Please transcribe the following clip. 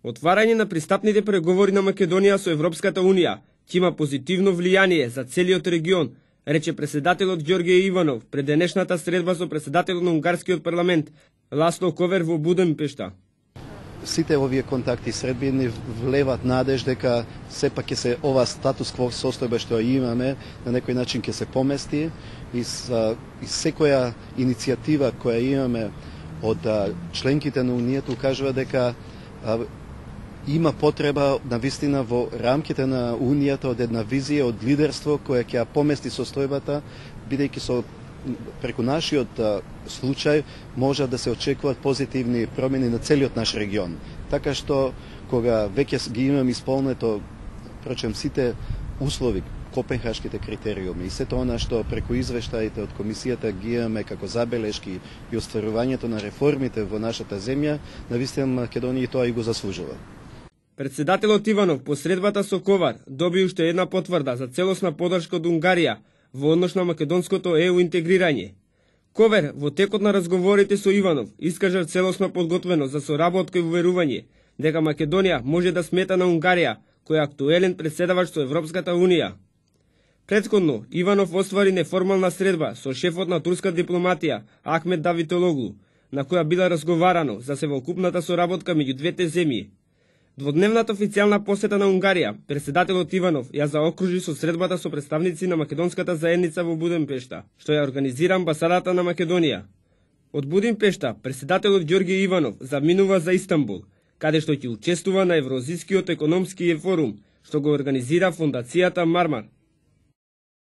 Отварање на пристапните преговори на Македонија со Европската Унија ќе има позитивно влијание за целиот регион, рече председателот Ѓорѓе Иванов пред денешната средба со председателот на унгарскиот парламент Ласло Ковер во Будимпешта. Сите овие контакти Србија ни влеват надеж дека сепак ќе се ова статус кво состојба што имаме на некој начин ќе се помести и секоја иницијатива која имаме од членките на Унијата укажува дека има потреба навистина во рамките на Унијата од една визија од лидерство која ќе помести состојбата, бидејќи со преку нашиот случај може да се очекуваат позитивни промени на целиот наш регион. Така што кога веќе ги имаме исполнето, прочем сите услови, копенхашките критериуми и сето она што преку извештаите од комисијата ги имаме како забелешки и остварувањето на реформите во нашата земја, навистина Македонија тоа и го заслужува. Председателот Иванов по средбата со Ковар доби уште една потврда за целосна подршка од Унгарија во однос на македонското ЕУ интегрирање. Ковер во текот на разговорите со Иванов искажа целосна подготвеност за соработка и уверување дека Македонија може да смета на Унгарија, кој е актуелен претседавач со Европската Унија. Претходно, Иванов оствари неформална средба со шефот на турска дипломатија Ахмет Давитологлу, на која била разговарано за севокупната соработка меѓу двете земји. Дводневната официјална посета на Унгарија, председателот Иванов ја заокружи со средбата со представници на македонската заедница во Будимпешта, што ја организира амбасадата на Македонија. Од Будимпешта, председателот Ѓорѓе Иванов заминува за Истанбул, каде што ќе учествува на Евроазискиот економски форум, што го организира фондацијата Мармар.